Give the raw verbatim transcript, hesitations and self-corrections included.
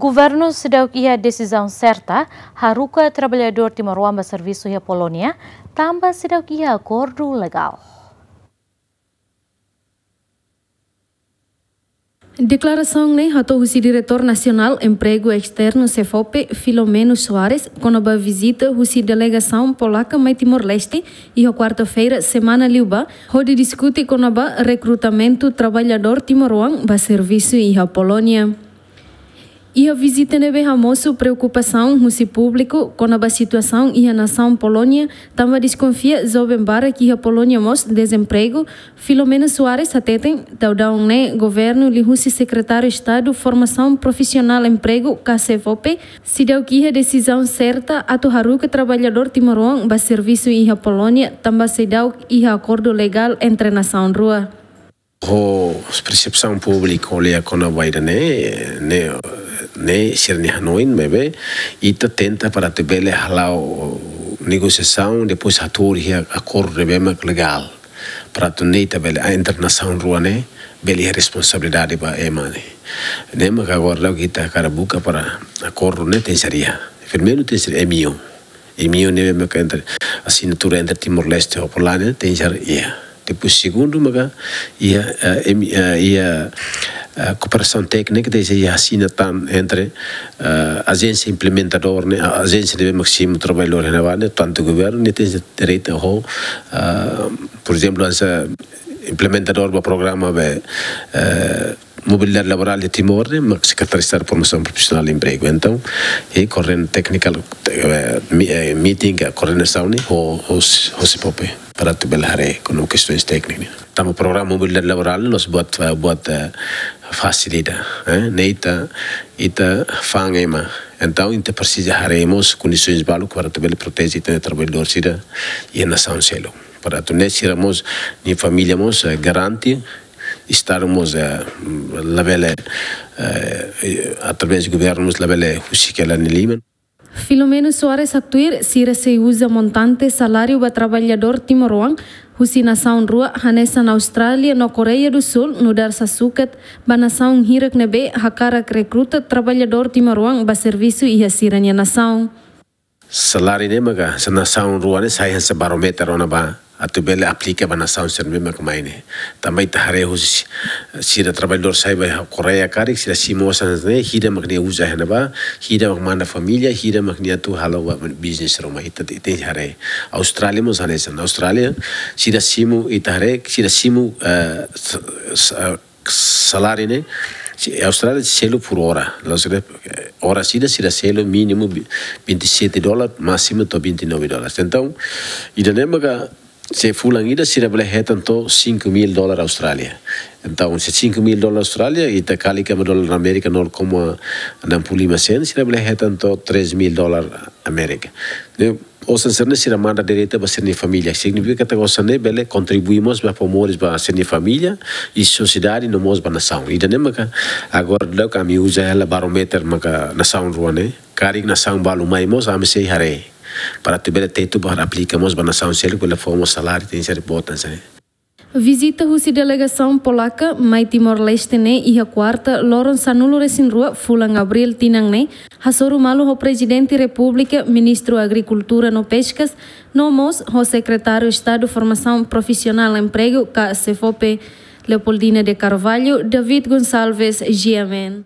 Governu seidauk iha desizaun serta haruka traballadór timoroan ba servisu iha Polónia, tanba seidauk iha akordu legál. Deklarasaun ne'e hato'o husi Diretór Nasionál Empregu Esternu, SEFOPE, Filomeno Soares, kona-ba vizita husi delegasaun polaka mai Timor-Leste, iha kuarta-feira semana liubá, hodi diskute kona-ba rekrutamentu traballadór timoroan ba servisu iha Polónia. Iha vizita ne'ebé hamosu preokupasaun husi públiku kona-ba situasaun iha nasaun Polónia, tanba deskonfia joven barak iha Polónia mós dezempregu, Filomeno Soares hateten, daudaun ne'e governu liuhusi Sekretáriu Estadu Formasaun Profisionál Empregu, ka SEFOPE, seidauk iha desizaun serta atu haruka traballadór timoroan ba servisu iha Polónia, tanba seidauk iha akordu legál entre nasaun rua. Ho persepsaun públiku ko'alia kona-ba ida-ne'e, ne'e, ne'e sira-nia hanoin, maibé ita tenta para atu bele hala'o negosiasaun, depois hatuur iha akordu ne'ebé mak legál. Para atu ne'e ita bele, ah, entre nasaun rua ne'e, bele iha responsabilidade ba ema ne'e. Ne'e mak agora daudaun ita hakarak buka para akordu ne'e tenke ser iha. Primeiru tenke ser M O U. M O U ne'ebé maka entre, asinatura entre Timor-Leste ho Polónia, tenke ser iha. Depois segundu maka iha, eh, M-, eh, iha, eh, kooperasaun téknika tenke ser iha asina tan entre, eh, ajénsia implementadór ne'e, a-, ajénsia ne'ebé mak simu traballadór iha ne'ebá ne'e, tantu governu ne'e tenke ser direita ho, eh, por ezemplu, hanesan implementadór ba programa be, eh, mobilidade laborál de Timor ne'e, mak Sekretáriu Estadu Formasaun Profisionál Empregu. Entaun, e koorden-, technical, eh, mi-, eh, meeting, ka koordenasaun ne'e, ho, ho, ho SEFOPE, para atu bele haree kona-ba kestaun téknika ne'e. Tanba programa mobilidade laborál ne'e, la'ós buat, eh, buat, eh, fasil ida, eh, ne'e ita, ita fa'an ema. Entaun, ita presiza haree mós kondisoens balu para atu bele proteje ita-nia traballadór sira iha nasaun seluk. Para atu nune'e sira mós, nia família mós, eh, garante, Estadu mós, eh, labele, eh, através governu mós labele husik hela nia liman. Filomeno Soares haktuir, sira sei uza montante saláriu ba traballadór timoroan husi nasaun rua, hanesan Austrália no Koreia do Sul, nu'udar sasukat ba nasaun hirak ne'ebé hakarak rekruta traballadór timoroan ba servisu iha sira-nia nasaun. Saláriu ne'e maka, se nasaun rua ne'e sai hanesan barómetru ona ba, atu bele aplika ba nasaun sira ne'ebé mak mai ne'e. Tanba ita haree husi sira traballadór sai ba Koreia karik, sira simu osan ne'e, hira mak nia uza iha ne'ebá, hira mak manda família, hira mak nia atu halo ba business ruma, ita te-, tenke haree. Austrália mós hanesan. Austrália, sira simu, ita haree, sira simu, eh, s-, s-, eh, saláriu ne'e, se, Austrália selu por hora. La'ós ne'e, eh, hora ida sira selu mínimu vi-, vinte e sete dólar, másimu to'o vinte e nove dólar. Entaun, ida-ne'e maka se fulan ida sira bele hetan to'o cinco mil dólar Austrália. Entaun, se cinco mil dólar Austrália, ita kali kona-ba dólar Amérika nol koma enam puluh lima sen, sira bele hetan to'o três mil dólar Amérika. Ne'e, osan sira-ne'e sira manda direta ba sira-nia família. Signifika katak osan ne'e bele kontribui mós ba fó moris ba sira-nia família, i sosiedade no mós ba nasaun. Ida-ne'e maka agora daudaun ami uza hela barómetru maka nasaun rua ne'e. Karik nasaun balu mai mós ami sei haree. Para atu bele tetu ba aplika mós ba nasaun seluk bele fó mós saláriu tenke ser boot hanesan ne'e. Vizita husi delegasaun polaka mai Timor-Leste ne'e iha kuarta, loron sanulu-resin-rua fulan Abríl tinan ne'e, hasoru malu ho Prezidente Repúblika, Ministru Agrikultura no Peskas, no mós ho Sekretáriu Estadu Formasaun Profisionál Empregu, ka SEFOPE, Leopoldina de Carvalho, David Gonçalves, G M N.